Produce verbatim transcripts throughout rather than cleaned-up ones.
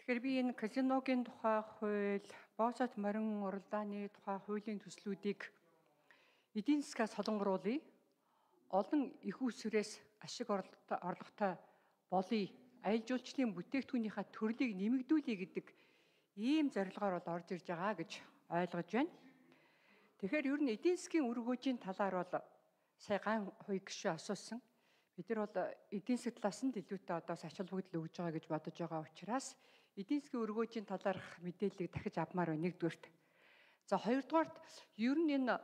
Тэгэхээр би энэ казиногийн тухай хууль, босот морин уралдааны тухай хуулийн төслүүдийг эдийн засгаас солонгоруулъя. Олон их усрээс ашиг орлоготой болъё. Аялал жуулчлалын бүтээгдэхүүнийхээ төрлийг нэмэгдүүлэе гэдэг ийм зорилгоор бол орж ирж байгаа гэж ойлгож байна. Тэгэхээр ер нь эдийн засгийн үр хөөжийн талаар бол сая ган хуй гишүү асуусан. Бид нар бол эдийн засгийн талаас нь илүүтэй одоо ач холбогдол өгж байгаа гэж бодож байгаа учраас эдийн засгийн үр хөөжийн талаарх мэдээллийг дахиж авмаар байна нэгдүгээрт. За хоёрдугаарт ер нь энэ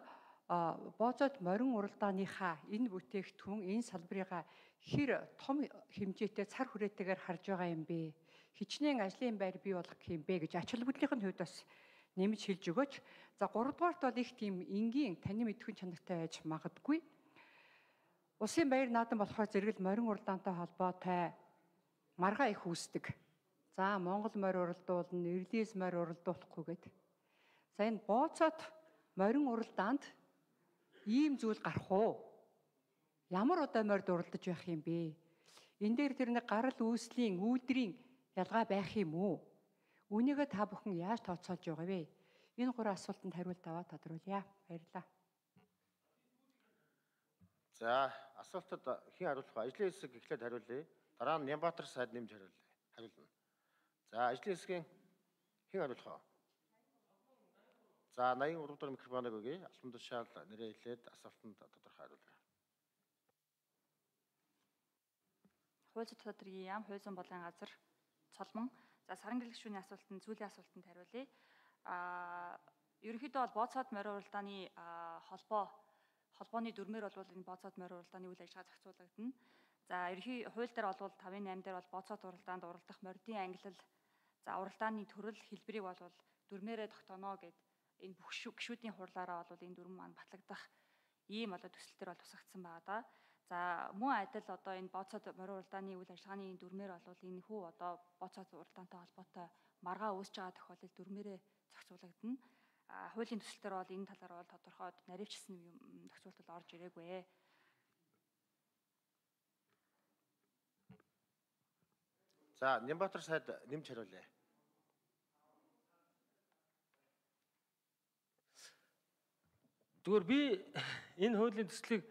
бооцоод морин уралдааныхаа энэ бүтээгдэхүүн энэ салбарыгаа хэр том хэмжээтэй цар хүрээтэйгээр харж байгаа юм бэ? Хичнээн ажлын байр бий болгох юм бэ гэж ач холбогдлын хувьд бас нэмж хэлж өгөөч. За гуравдугаарт бол их тийм энгийн таны мэдхүйн чанартай байж магадгүй. Улсын баяр наадам болохоор зэрэгэл морин уралдаантай холбоотой маргаа их үүсдэг. За Монгол морь уралдуулна, Ирлиз морь уралдуулахгүй гэдэг. За энэ бооцоод морин уралдаанд ийм зүйл гарах уу? Ямар удаа морьд уралдаж байх юм бэ? Энэ дээр тэр нэг гарал үүслийн үйлдвэрийн ялгаа байх юм уу? Үүнийгээ та бүхэн яаж тооцоолж байгаа вэ? Энэ гурван асуултанд хариулт аваад тодруулъя. Баярлалаа. За асуултад хэн хариулах вэ? Ажлын хэсэг эхлээд хариулъя. Дараа нь Нямбатар сайд нэмж хариулъя. Хариулна. За ажлын хэсгийн хэн хариулах вэ? За наян гурав дахь микрофоныг өгье. Албан тушаал нэрээ хэлээд асуултанд тодорхой хариулъя. Хууль зүйн тодорхой яам, хууль зүйн бодлогын газар, цолмон. За саран гэрлэх шүүний асуултанд зүйлийн асуултанд хариулъя. Аа ерөнхийдөө бол бооцоод морин уралдааны холбоо холбооны дүрмээр бол энэ бооцоод морин уралдааны үйл ажиллагаа зохицуулагдана. За ерөнхий хууль дээр бол тавын восемь дээр бол бооцоод уралдаанд уралдах мордын ангилал, за уралдааны төрөл хэлбэрийг бол дүрмээрээ тогтооно гэд энэ бүх гишүүдийн хурлаараа бол энэ дүрм маань батлагдах ийм одоо төсөл төр бол тусагдсан байгаа да. За мөн адил одоо энэ бооцоод морин уралдааны үйл ажиллагааны дүрмээр бол энэ хүү одоо бооцоод уралдаантай холбоотой маргаа үүсэж байгаа тохиолдолд дүрмээрээ зохицуулагдана. А хуулийн төсөл төр бол энэ талаар бол тодорхой наривчсан юм зохицуулалт орж ирээгүй. За Нямбатар сайд нэмж хариулъя. Зүгээр би энэ хуулийн төслийг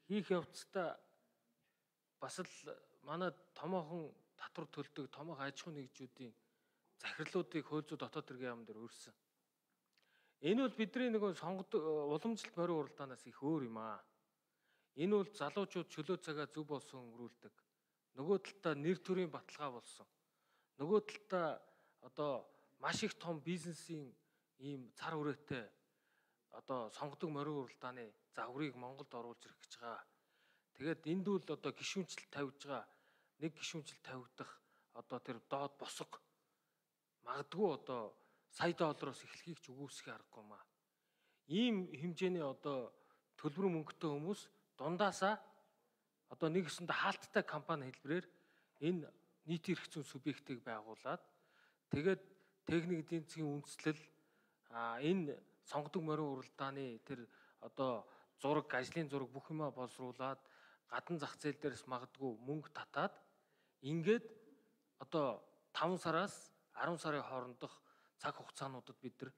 хийх явцдаа бас л манай томоохон татвар төлдөг томоохон аж ахуйн нэгжүүдийн захирлуудыг хууль зүйн дотоод хэргийн яам дээр өрсөн. Энэ бол бидний нэг сонгодог уламжлалт морин уралдаанаас их өөр юм аа. Энэ бол залуучууд чөлөө цагаа зөв болсон өнгөрүүлдэг. Нөгөө талдаа нэр төрийн баталгаа болсон. Нөгөө талдаа одоо маш их том бизнесийн ийм цар хүрээтэй одоо сонгодог морин уралдааны загварыг Монголд оруулж ирэх гэж байгаа. Тэгээд энд бол одоо гишүүнчлэл тавьж байгаа нэг гишүүнчлэл тавигдах одоо тэр доод босго магадгүй одоо сая доллароос эхлэхийг ч үгүйсэх аргагүй маа. Ийм хэмжээний одоо төлбөр мөнгөтэй хүмүүс дундаасаа одоо нэг өсөндө хаалттай компани хэлбэрээр энэ нийтийн эрх зүйн субъектыг байгуулад тэгээд техник эдийн засгийн үндэслэл а энэ сонгодог морин уралдааны тэр одоо зураг, ажлын зураг бүх юмаа боловсруулад гадна зах зээл дээрс магадгүй мөнгө татаад ингээд одоо таван сараас арван сарын хоорондох цаг хугацаануудад бид нар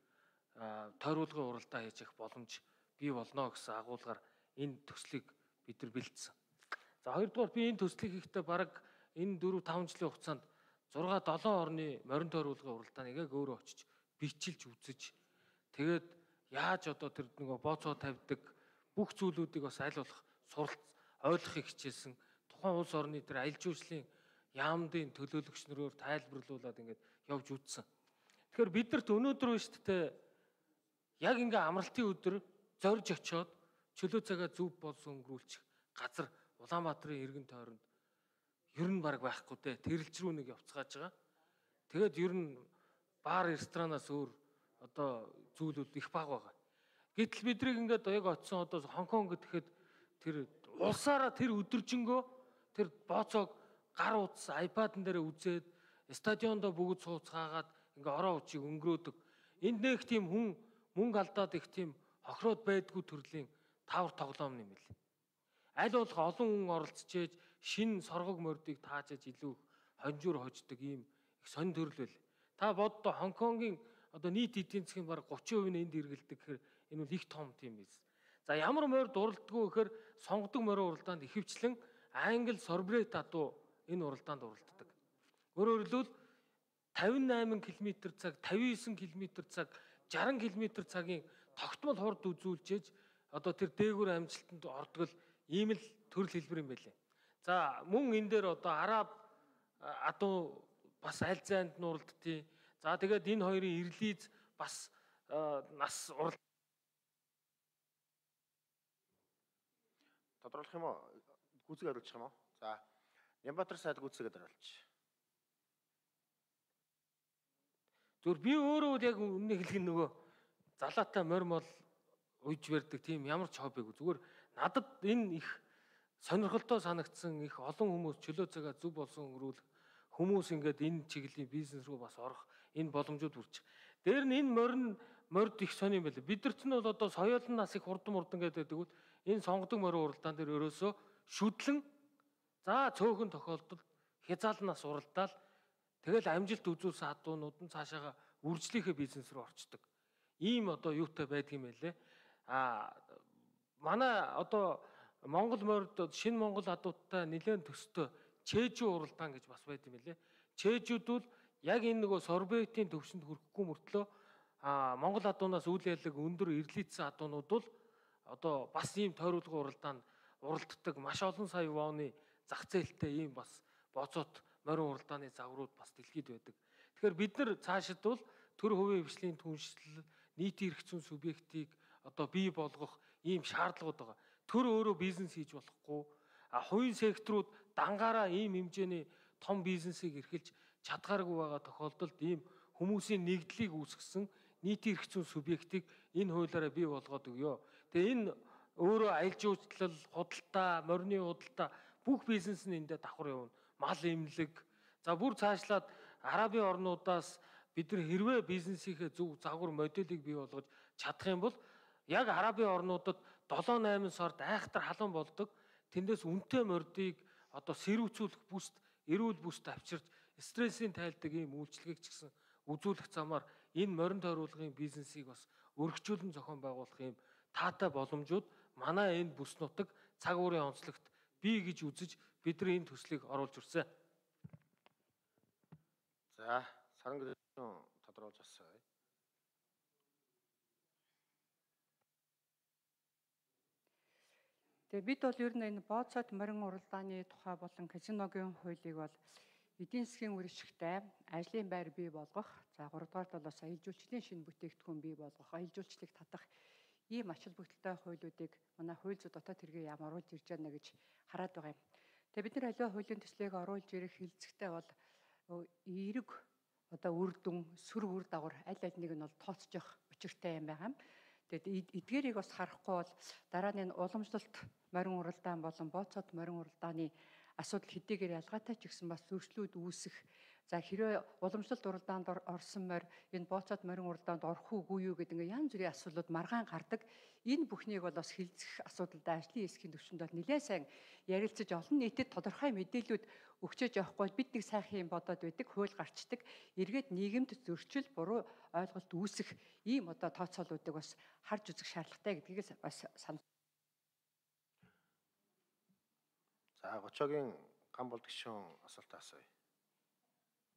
тойруулгын уралдаа хийж явах боломж бий болно гэсэн агуулгаар энэ төслийг бид нар бэлдсэн. За хоёрдугаар би энэ төслийг хийхдээ бараг энэ дөрөв таван жилийн хугацаанд зурга долоон орны морин тойруулгын уралдааныг яг өөрөө очиж бичилж үзэж тэгээд яаж одоо тэр нөгөө бооцоо тавьдаг бүх зүйлүүдийг бас аль болох суралц ойлгохыг хичээсэн. Тухайн улс орны тэр аялал жуулчлалын яамдын төлөөлөгч нөрөөр тайлбарлуулад ингээд явж үзсэн. Тэгэхээр бидэрт өнөөдөр биш тээ яг ингээ амралтын өдөр зорж очиод чөлөө цагаа зөв болсон өнгөрүүлчих газар Улаанбаатарын иргэн тойронд ер нь баг байхгүй дээ. Тэрэлж рүү нэг явцгааж байгаа. Тэгээд ер нь баар ресторанаас өөр одоо зүйлүүд их баг байгаа. Гэтэл бидрийг ингээд яг очисон одоо Хонконг гэхэд тэр улсаараа тэр өдөржингөө тэр бооцоог гар утас айпадн дээр үзээд стадиондоо бүгд сууцгаагаад ингээ ороо учиг өнгөрөөдөг. Энд нэг тийм хүн мөнгө алдаад их тийм хохироод байдгүй төрлийн тавар тоглоом юм л. Аль болох олон хүн оролцож шин соргог мордыг таажиж илүү хонжуур хождог ийм их сонин төрөл байл. Та боддоо Хонконгийн одоо нийт эдийн засгийн бараг гучин хувийг нь энд эргэлдэг гэхээр энэ бол их том тийм биз. За ямар морь дурлдаггүй гэхээр сонгодог морин уралдаанд ихэвчлэн англи сорбрет адуу энэ уралдаанд уралддаг. Өөрөөр хэлбэл тавин найман км цаг, тавин есөн км цаг, жаран км цагийн тогтмол хурд үзүүлжээж одоо тэр дээгүүр амжилтанд ордог л ийм л төрөл хэлбэр юм байлээ. За мөн энэ дээр одоо араб адуу бас аль зайд нь уралдтыг. За тэгээд энэ хоёрын ирлиз бас нас уралд. Тодруулах юм уу? Гүйцэг хариулчих юм уу? За Нямбатар сайд гүйцэгээ хариулж. Зүгээр би өөрөө яг үнэ хэлэх нөгөө залаатай морь мол уйж барьдаг тийм ямар ч хоббигүй. Зүгээр надад энэ их сонирхолтой санагдсан, их олон хүмүүс чөлөө цагаа зөв болсон өнгөрүүлэх хүмүүс ингээд энэ чиглэлийн бизнес руу бас орох энэ боломжууд хүрч. Дээр нь энэ морин морьд их сони юм байна. Бидэрт нь бол одоо соёолын нас их хурдан мурдан гэдэг тэгвэл энэ сонгодог морин уралдаан дээр ерөөсөө шүтлэн за цөөхөн тохиолдолд хязгаалал нас уралдаал тэгэл амжилт үзүүлсэн адуунууд нь цаашаага үржлийнхээ бизнес рүү орчдөг. Ийм одоо юутай байдгийм байлээ. А манай одоо Монгол морьд шинэ Монгол адуудтай нэлээд төстэй чэжүү уралдаан гэж бас байд юм лээ. Чэжүүд бол яг энэ нөгөө сорбетийн төвшөнд хүрэхгүй мөртлөө а Монгол адуунаас үйл ялэг өндөр эрлийдсэн адуунууд бол одоо бас ийм тойруулгын уралдаанд уралддаг маш олон сая вооны зах зээлтэй ийм бас боцоот морин уралдааны загварууд бас дэлхийд байдаг. Тэгэхээр бид нар цаашид бол төр хувийн хвшлийн түншлэл, нийтийн эрх зүйн субъектыг одоо бий болгох ийм шаардлагууд байгаа. Төр өөрөө бизнес хийж болохгүй. А хувийн секторууд дангаараа ийм хэмжээний том бизнесийг эрхэлж чадгааргүй байгаа тохиолдолд ийм хүмүүсийн нэгдлийг үүсгэсэн нийтийн эрх зүйн субъектыг энэ хуулиараа бий болгоод өгөө. Тэгээ энэ өөрөө аялал жуулчлал, худалдаа, морины худалдаа бүх бизнес нь эндээ давхар явна. Мал эмнэлэг. За бүр цаашлаад арабын орнуудаас бид нар хэрвээ бизнесийнхээ зөв загвар моделийг бий болгож чадах юм бол яг арабын орнуудад долоо найман сард айхтар халуун болдог. Тэндээс үнэтэй мордыг одоо сэрүүцүүлэх бүст, эрүүл бүст авчирч стрессийн тайлдаг ийм үйлчлэгийг ч гэсэн үзүүлэх замаар энэ морин тойруулгын бизнесийг бас өргөжүүлэн зохион байгуулах ийм таатай боломжууд манай энэ бүс нутаг цаг уурын онцлогт бий гэж үзэж бид нар энэ төслийг оруулж ирсэн. За саран гэрээсэн тодруулж асууя. Тэгээ бид бол ер нь энэ бооцоод морин уралдааны тухай болон казиногийн хуулийг бол эдийн засгийн үржигтэй ажлын байр бий болгох, за гуравдугаар талаас аялал жуулчлалын шинэ бүтээгдэхүүн бий болгох, аялал жуулчлалыг татах ийм ач холбогдолтой хуулиудыг манай хууль зүйн дотоод хэргийн яам оруулж ирж байна гэж хараад байгаа юм. Тэгээ бид нар аливаа хуулийн төслийг оруулж ирэх хилцэгтэй бол эерэг одоо үр дүн, сүр үр дагавар аль аль нэг нь бол тооцож явах учиртай юм байгаа юм. Тэгээд эдгээрийг бас харахгүй бол дараа нь уламжлалт морин уралдаан болон бооцоод морин уралдааны асуудал хэдийгээр ялгаатай ч гэсэн бас зөрчлүүд үүсэх. За хэрвээ уламжлалт уралдаанд орсон морь энэ бооцоод морин уралдаанд орох уугүй юу гэдэг ингээ янз бүрийн асуудлууд маргаан гардаг. Энэ бүхнийг бол бас хилцэх асуудалдаа ажлын эсхийн төвшөнд бол нэлээд сайн ярилцаж олон нийтэд тодорхой мэдээлүүд өгчөөж явахгүй бид нэг сайхан юм бодоод байдаг, хууль гарчдаг. Эргээд нийгэмд зөрчил, буруу ойлголт үүсэх ийм одоо тооцоолуудыг бас харж үзэх шаардлагатай гэдгийг бас санал. За Гочогийн ган болд гишүүн асуултаа асууя.